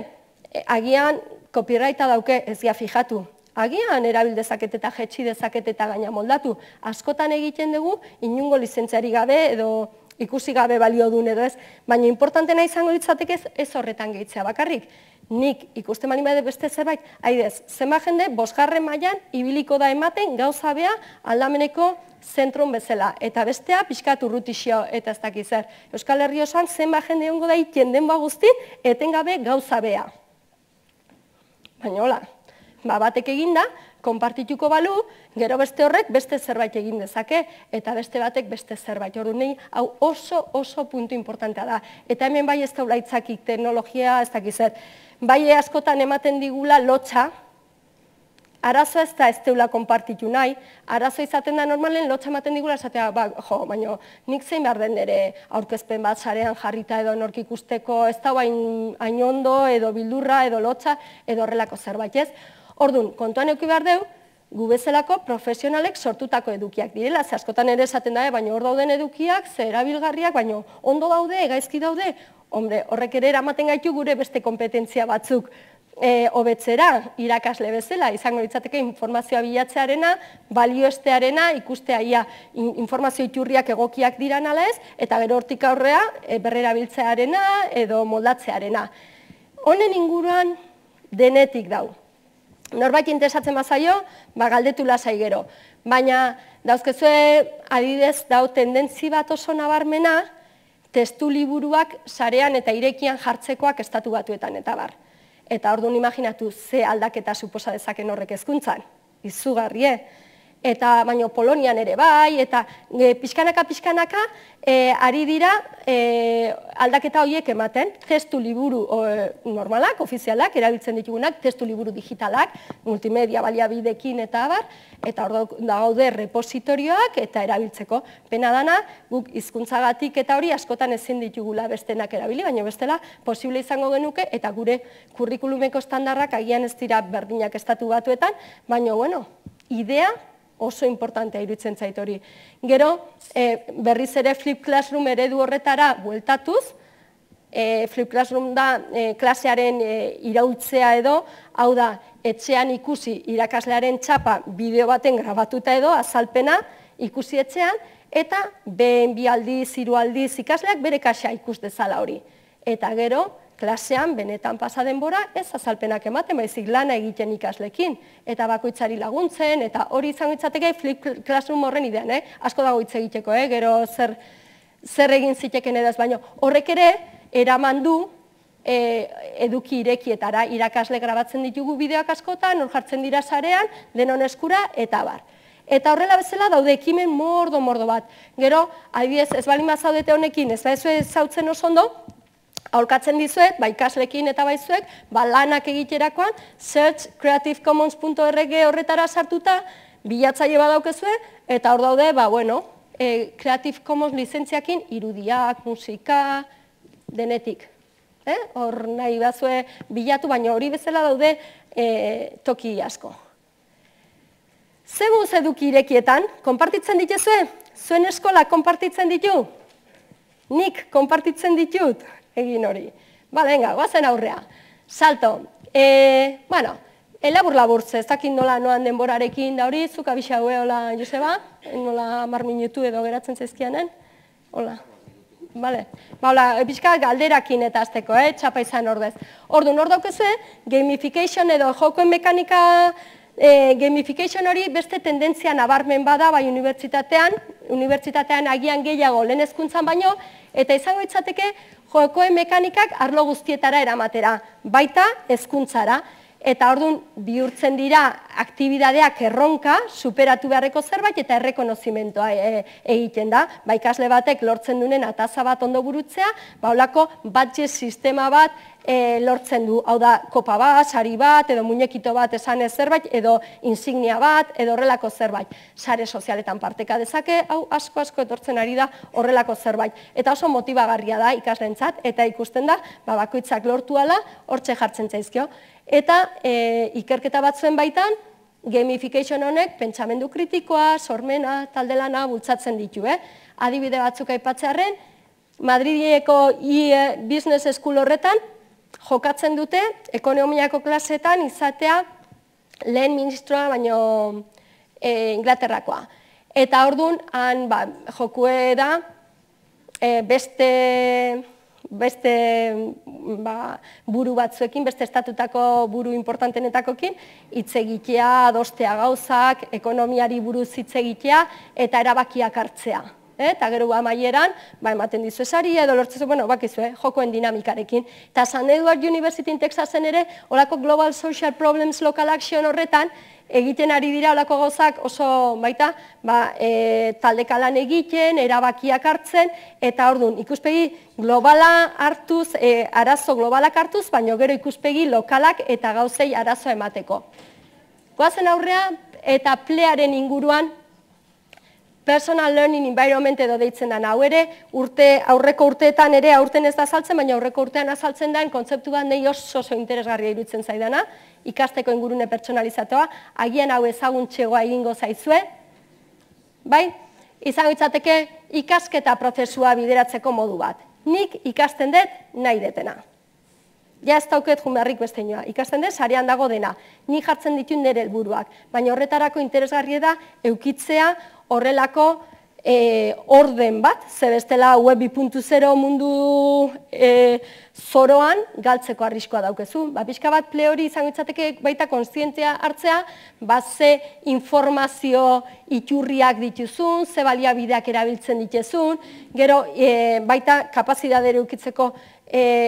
agian copyrighta dauke ez gia fijatu. Agian erabil dezaket eta jetxi dezaket eta gaina moldatu. Askotan egiten dugu inungo lizentziari gabe edo ikusi gabe balio duen edo ez. Baina importantena izango litzateke ez horretan gehitzea bakarrik. Nik ikusten bali bade beste zerbait, haidez, zenba jende bosgarren mailan ibiliko da ematen gauza bea aldameneko zentron bezala. Eta bestea pixkat urrutixio eta ez dakiz zer. Euskal Herri osoan zenba jende egongo da itien denba guztin etengabe gauza bea. Baina hola, ba batek eginda, konpartituko balu, gero beste horrek beste zerbait egin dezake, eta beste batek beste zerbait. Orduan nahi, hau oso oso puntu importantea da. Eta hemen bai ez daula itzakik teknologia, ez dakiz zer. Bai askotan ematen digula lotxa, arazoa ez da ez deula konpartitu nahi, arazoa izaten da normalen lotxa ematen digula esatea, ba, jo, baina nik zein behar den ere aurkezpen bat sarean jarrita edo nork ikusteko, ez da hain ondo edo bildurra edo lotxa edo horrelako zerbait ez. Orduan, kontuan euki behar deu, gu bezalako profesionalek sortutako edukiak direla, ze askotan ere esaten da, baina hor dauden edukiak, ze erabilgarriak, baina ondo daude, gaizki daude, hombre, horrek ere eramaten gaitu gure beste kompetentzia batzuk hobetzera, irakasle bezala, izango litzateke informazioa bilatzearena, balioestearena, ikustea ia informazio iturriak egokiak diran ala ez, eta gero hortik aurrea berrerabiltzearena edo moldatzearena. Honen inguruan denetik dau. Norbait interesatzen bazaio, ba galdetu lasai gero. Baina dauzkezue adidez dau tendentzi bat oso nabarmena, testu liburuak sarean eta irekian jartzekoak estatu batuetan eta bar. Eta orduan imaginatu ze aldaketa suposa dezaken horrek hezkuntzan. Izugarrie. Eta baino Polonian ere bai, eta pixkanaka-pixkanaka ari dira aldaketa horiek ematen, testu liburu normalak, ofizialak, erabiltzen ditugunak, testu liburu digitalak, multimedia baliabidekin eta abar, eta hor daude repositorioak eta erabiltzeko. Pena dana, guk hizkuntzagatik eta hori askotan ezin ditugula bestenak erabili, baina bestela posible izango genuke, eta gure kurrikulumeko estandarrak agian ez dira berdinak estatu batuetan, baina, bueno, idea oso importantea iruditzen zait hori. Gero, berriz ere Flip Classroom eredu horretara bueltatuz, Flip Classroom da klasearen iraultzea edo, hau da, etxean ikusi irakaslearen txapa bideo baten grabatuta edo, azalpena ikusi etxean, eta behen bi aldiz, hiru aldiz ikasleak bere kaxa ikus dezala hori. Eta gero, klasean, benetan pasa denbora, ez azalpenak ematen, baizik lana egiten ikaslekin, eta bakoitzari laguntzen, eta hori izango itzateke Flip Classroom horren idean, asko dago hitz egiteko, gero zer egin ziteken edaz, baina horrek ere, eraman du eduki irekietara, irakasle grabatzen ditugu bideoak askotan, hor jartzen dira sarean, denon eskura, eta bar. Eta horrela bezala daude ekimen mordo-mordo bat. Gero, adibidez, ez balin bazaudete honekin, ez baizu ezautzen oso ondo, aholkatzen dizuet, ba ikaslekin eta baizuek, ba lanak egiterakoan, search creative commons puntu org horretara sartuta, bilatzaile badaukezue, eta hor daude, ba bueno, Creative Commons lizentziakin irudiak, musika, denetik. Hor nahi bazue bilatu, baina hori bezala daude toki asko. Zegun zeduki irekietan, konpartitzen dituzue? Zuen eskola konpartitzen ditu? Nik konpartitzen ditut? Egin hori. Bale, venga, guazen aurrea. Salto. E, bueno, elabur-laburtze, ez dakit nola noan denborarekin da hori, zuk abisa hue, hola, Joseba? Nola mar minutu edo geratzen zaizkianen? Hola. Bale. Ba, hola, pixka galderakin eta azteko, eh? Txapa izan ordez. Ordu, nor daukezue, gamification edo jokoen mekanika, e, gamification hori beste tendentzia nabarmen bada, bai unibertsitatean, unibertsitatean agian gehiago lehen hezkuntzan baino, eta izango itzateke jokoen mekanikak arlo guztietara eramatera, baita hezkuntzara. Eta orduan bihurtzen dira aktibidadeak erronka, superatu beharreko zerbait eta errekonozimentoa egiten da. Ba, ikasle batek lortzen duen ataza bat ondo burutzea, ba, holako badge sistema bat lortzen du. Hau da, kopa bat, sari bat, edo muñekito bat esanez zerbait, edo insignia bat, edo horrelako zerbait. Sare sozialetan parteka dezake, hau asko-asko etortzen ari da horrelako zerbait. Eta oso motibagarria da ikasleentzat, eta ikusten da, ba, bakoitzak lortu ala, hortxe jartzen zaizkio. Eta ikerketa batzuen baitan, gamification honek pentsamendu kritikoa, sormena, talde lana bultzatzen ditu. Adibide batzuk aipatzearren, Madrileko Business School horretan jokatzen dute ekonomiako klasetan izatea lehen ministroa baino Inglaterrakoa. Eta orduan, han jokue da beste... beste buru batzuekin, beste estatutako buru importantenetakokin, hitz egitea, adostea gauzak, ekonomiari buruz hitz egitea, eta erabakiak hartzea. Eta gero amaieran, ematen dizu esaria, edo lortzezu, bueno, bakizu, jokoen dinamikarekin. Eta San Edward University in Texasen ere, holako Global Social Problems Local Action horretan, egiten ari dira olako gauzak oso baita taldeka lan egiten, erabakiak hartzen, eta orduan ikuspegi globala hartuz, arazo globalak hartuz, baina gero ikuspegi lokalak eta gauzei arazoa emateko. Goazen aurrea eta plearen inguruan personal learning environment edo deitzen da. Hau ere, aurreko urteetan ere aurten ez da azaltzen, baina aurreko urtean azaltzen da, kontzeptu bat nahi oso oso interesgarria iruditzen zaidana, ikasteko ingurune pertsonalizatoa, agian hau ezaguntxegoa egingo zaizue, bai? Izango itzateke ikasketa prozesua bideratzeko modu bat. Nik ikasten dut nahi detena. Ja ez dauket jumearrik beste inoa. Ikasten dut, sarean dago dena. Nik jartzen ditut nire helburuak, baina horretarako interesgarria da eukitzea horrelako orden bat, ze bestela web bi puntu zero mundu zoroan galtzeko arriskoa daukezu. Pixka bat ple hori izango itzateke baita kontzientzia hartzea, ze informazio iturriak dituzun, ze baliabideak erabiltzen dituzun, gero baita kapazitatea eukitzeko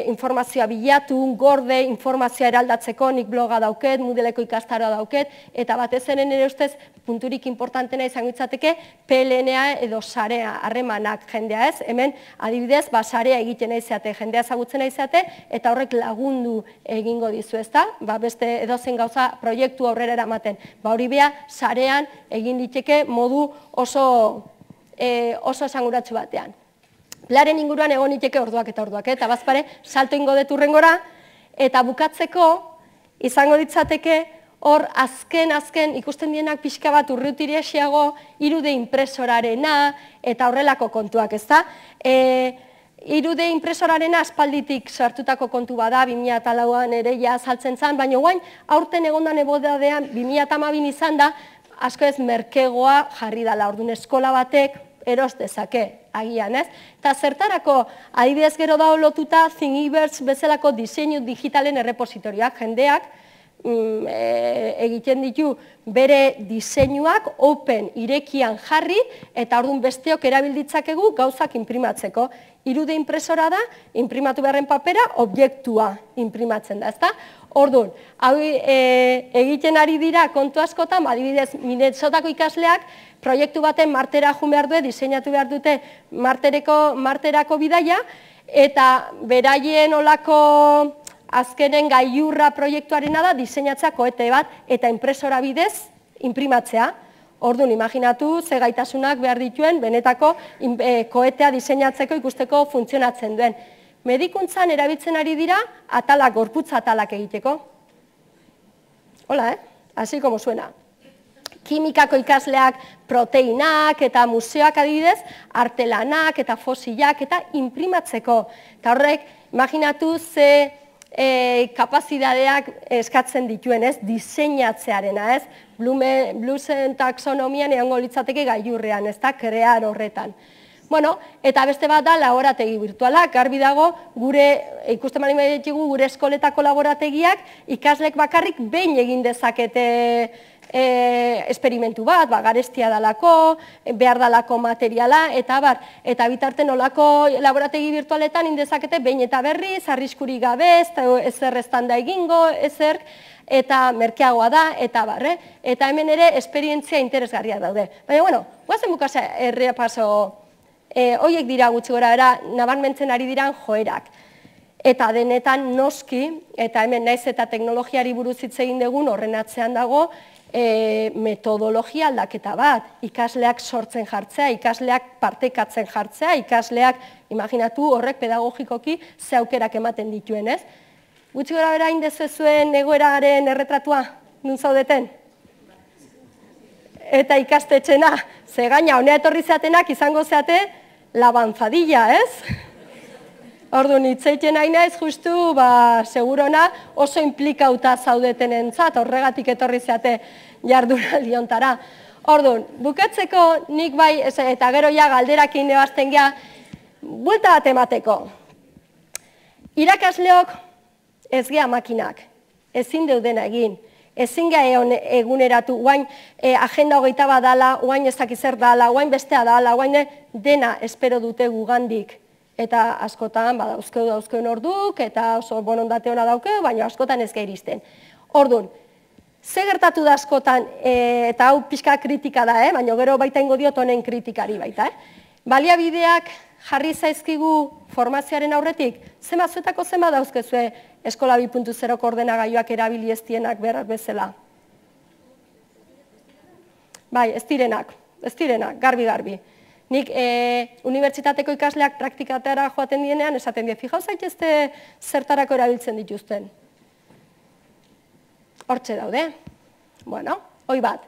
informazioa bilatu, gorde, informazioa eraldatzeko, nik bloga dauket, Moodleko ikastaroa dauket, eta batez ere nire ustez punturik importantena izango itzateke P L N-a edo sarea, harremanak jendea ez, hemen adibidez, sarea egiten aizate, jendea ezagutzen aizate, eta horrek lagundu egingo dizu ezta, beste edozen gauza proiektu aurrera eramaten. Ba hori beha, sarean egin diteke modu oso esanguratsu batean. Plearen inguruan egon iteke orduak eta orduak, eta bazpare, salto ingo deturrengora, eta bukatzeko, izango ditzateke, hor azken-azken ikusten dienak pixka bat urrutiriasiago, irude impresorarena, eta horrelako kontuak, ez da? Irude impresorarena aspalditik sartutako kontu bada, bi mila lauan ere ja azaltzen zen, baina guain, aurten egondan ebodadean, bi mila hamabin izan da, asko ez merkegoa jarri dala, orduan eskola batek, eros dezake, agian, ez? Eta zertarako, adibidez gero da lotuta Thingiverse bezalako diseinu digitalen errepositorioak, jendeak egiten ditu bere diseinuak open irekian jarri, eta orduan besteok erabilditzakegu gauzak imprimatzeko. Irude impresora da, imprimatu beharren papera, objektua imprimatzen da, ezta? Orduan, hau egiten ari dira kontu askotan, adibidez, Minnesotako ikasleak proiektu baten martera jun behar du, diseinatu behar dute marterako bidaia, eta beraien olako azkenen gailurra proiektuarena da diseinatzea koete bat eta impresora bidez imprimatzea. Orduan, imaginatu ze gaitasunak behar dituen benetako koetea diseinatzeko ikusteko funtzionatzen duen. Medikuntzan erabiltzen ari dira atalak, gorputza atalak egiteko. Hola, eh? Así como suena. kimikako ikasleak proteinak eta museoak adibidez, artelanak eta fosilak eta imprimatzeko. Eta horrek, imaginatu ze kapazidadeak eskatzen dituen, ez, diseinatzearena, ez, Bluesen taxonomian egongo litzateke gailurrean, ez da, krear horretan. Bueno, eta beste bat da laborategi virtualak, garbi dago, gure, ikusten bali ditugu, gure eskoletako laborategiak ikaslek bakarrik behin egin dezakete esperimentu bat, garestia dalako, behar dalako materiala, eta bar, eta bitarten olako laborategi virtualetan indezakete behin eta berriz, arriskuri gabe, ezer estanda egingo, ezer, eta merkeagoa da, eta bar, eta hemen ere esperientzia interesgarriak daude. Baina, bueno, guazen bukasa errea paso, horiek dira gutxi gora era, nabarmentzen ari diran joerak. Eta denetan noski, eta hemen naiz eta teknologiari buruz hitz egin dugun horren atzean dago, metodologia aldaketa bat, ikasleak sortzen jartzea, ikasleak partekatzen jartzea, ikasleak, imaginatu horrek pedagogikoki ze aukerak ematen dituen, ez? Gutxi gora bera indezuzuen egoeraren erretratua, nun zaudeten? Eta ikastetxena, ze gaina, honea etorri zeatenak izango zeate labanzadilla, ez? Orduan, itzeiten nahi naiz, justu, ba, segurona oso implikauta zaudeten entzat, horregatik etorri zeate jardunaldi hontara. Orduan, bukatzeko nik bai, eta gero ja galderakin ebazten gea, buelta bat emateko. Irakasleok ez gea makinak, ezin deudena egin, ezin gea eguneratu, guain agenda hogeita bat dala, guain ez dakizer dala, guain bestea dala, guain dena espero dute gugandik. Eta askotan, dauzkeu dauzkeun orduk, eta oso bonondate hona daukeu, baina askotan ez gairisten. Orduan, ze gertatu da askotan, eta hau pixka kritika da, baina gero baita ingo diot honen kritikari baita. Baliabideak jarri zaizkigu formazioaren aurretik, zema zuetako zema dauzkezue eskola bi puntu zero ordenagailuak erabili ez dienak berak bezala. Bai, ez direnak, ez direnak, garbi-garbi. Nik unibertsitateko ikasleak praktikatera joaten dienean, esaten die, fijau zaitezte zertarako erabiltzen dituzten. Hortxe daude. Bueno, hoi bat.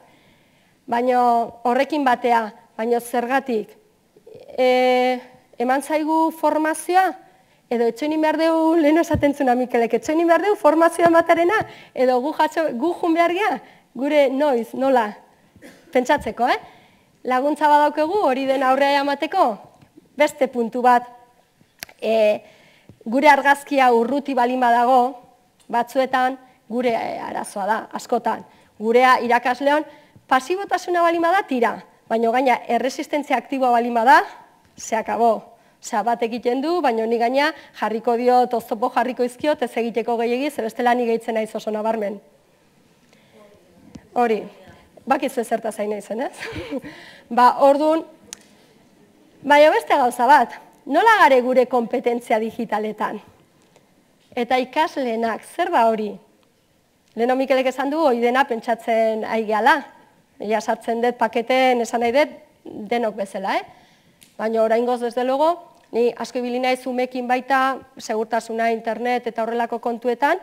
Baina horrekin batea, baina zergatik, eman zaigu formazioa, edo etxoinin behar dugu, lehen esaten zuna Mikelek, etxoinin behar dugu formazioa matarena, edo gu jun behar gea, gure noiz, nola, pentsatzeko, eh? Laguntza badaukegu hori den aurrea emateko, beste puntu bat, gure argazkia urruti balin badago, batzuetan gure arazoa da, askotan. Gurea irakasleon pasibotasuna balin bada tira, baina gaina erresistentzia aktiboa balin bada, se akabo. Osea, bat egiten du, baina ni gaina jarriko diot, oztopo jarriko izkiot, ez egiteko gehiagiz, ebestela ni gehitzen naiz oso nabarmen. Hori. Bakizu ezerta zain naizen, ez? Ba, orduan, baina beste gauza bat, nola gare gure kompetentzia digitaletan? Eta ikasleenak, zer da hori? Leheno Mikelek esan du, hori dena pentsatzen aigeala. Ella sartzen dut paketen, esan nahi dut, denok bezala, eh? Baina oraingoz desde logo, ni asko ibili naiz umekin baita, segurtasuna, internet eta horrelako kontuetan,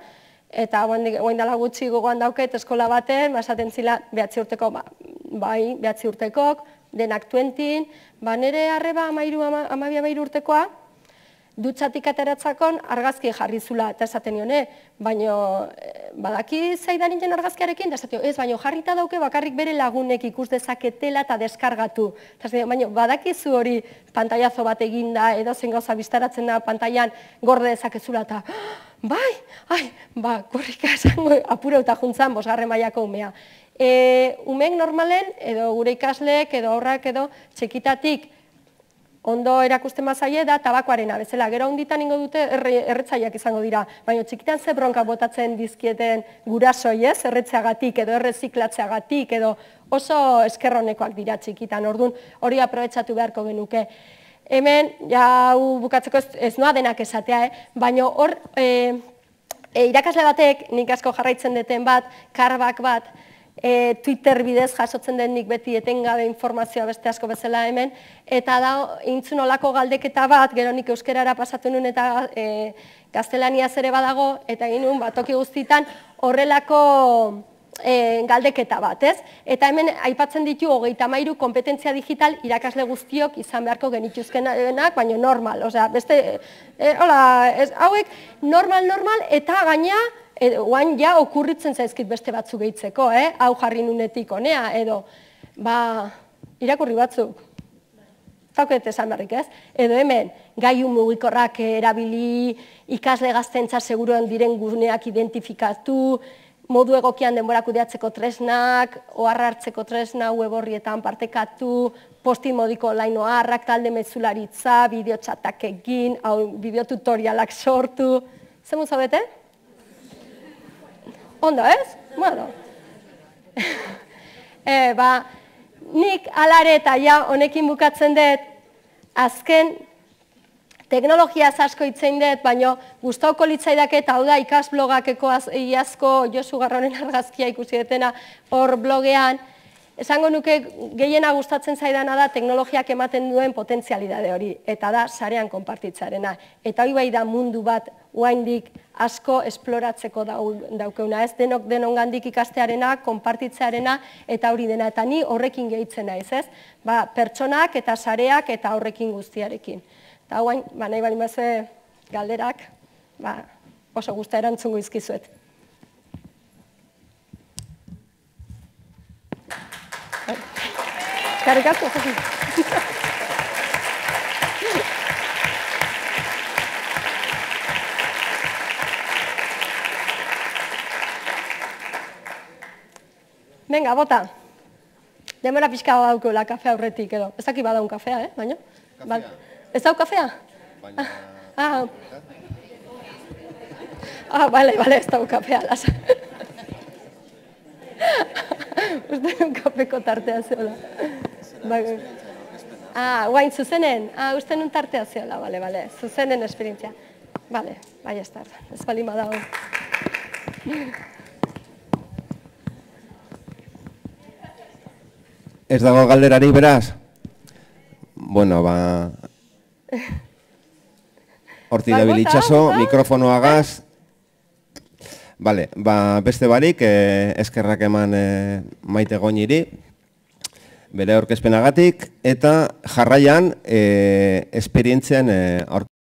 eta guain dala gutxi gogoan dauket eskola baten, esaten zila behatzi urteko, bai, behatzi urtekok, denak tuentin, ba nire arreba amabia amairu urtekoa, dutxatik ateratzakon argazki jarri zula, eta esaten nione, baina badaki zaidan ingen argazkiarekin, eta esatio, ez, baina jarrita dauke bakarrik bere lagunek ikus dezaketela eta deskargatu. Baina badakizu hori pantailazo bat eginda, edo zen gauza biztaratzen da pantailan gorde dezakezula, eta bai, ai, ba, korrika esango apura eta juntzan, bosgarren mailako umea. Umeek normalen, edo gure ikasleek, edo horrak, edo txekitatik ondo erakusten mazaie da tabakoarena, bezala, gero honditan ingo dute erretzaiak izango dira, baina txikitan ze bronka botatzen dizkieten gurasoi, ez, erretzeagatik, edo erreziklatzeagatik, edo oso eskerronekoak dira txikitan, orduan hori aprobetxatu beharko genuke. Hemen, ja, bukatzeko ez noa denak esatea, baina hor, irakasle batek, nik asko jarraitzen deten bat, karbak bat, Twitter bidez jasotzen den nik beti etengabe informazioa beste asko bezala hemen, eta da, intzun olako galdeketa bat, gero nik euskerara pasatu nuen eta gaztelaniaz ere badago, eta egin nuen, toki guztietan horrelako galdeketa bat, ez? Eta hemen aipatzen ditu hogeita hamairu kompetentzia digital irakasle guztiok izan beharko genituzkenak, baina normal, osea, beste, hola, hauek normal, normal, eta gaina, oain ja okurritzen zaizkit beste batzuk gehitzeko, eh? Hau jarri nunetik honea, edo, ba, irakurri batzuk. Zauket esan berrik, ez? Edo hemen, gailu mugikorrak erabili, ikasle gaztentza seguruan diren guneak identifikatu, modu egokian denbora kudeatzeko tresnak, oharra hartzeko tresna, web horrietan partekatu, postin modiko online oharrak, talde mezularitza, bideotxatak egin, bideotutorialak sortu. Zemu zaudete? Ondo, ez? Bueno. Ba, nik alare eta ja honekin bukatzen dut, azken teknologiaz asko itzein dut, baina gustauko litzaidaket, hau da ikasblogakeko iazko Josu Garronen argazkia ikusi detena hor blogean, esango nuke gehiena gustatzen zaidana da teknologiak ematen duen potentzialidade hori, eta da sarean konpartitzarena. Eta hori bai da mundu bat oraindik asko esploratzeko daukeuna, ez denok denongandik ikastearena, konpartitzearena, eta hori dena, eta ni horrekin gehitzen naiz, ez? Ba, pertsonak eta sareak eta horrekin guztiarekin. Eta guain, nahi bali mazue galderak, oso guztia erantzungo izkizuet. Eskerrik asko, Josi. Venga, bota. Demora pixka daukeula kafe aurretik edo. Ez daki badaun kafea, eh? Baina? Kafea. Ez dau kafea? Baina... Ah, ah, bale, bale, ez dau kafea, lasa. Uste nun kafeko tartea zeola. Ah, guain, zuzenen? Ah, uste nun tartea zeola, bale, bale. Zuzenen esperientzia. Bale, bai ez da, ez balima dago. Ez dago galderari beraz? Bueno, ba... Horti dabil itxaso, mikrofonoagaz. Bale, ba, beste barik, eskerrak eman Maite Goñiri, bere aurkezpenagatik, eta jarraian esperientzian aurkezpenagatik.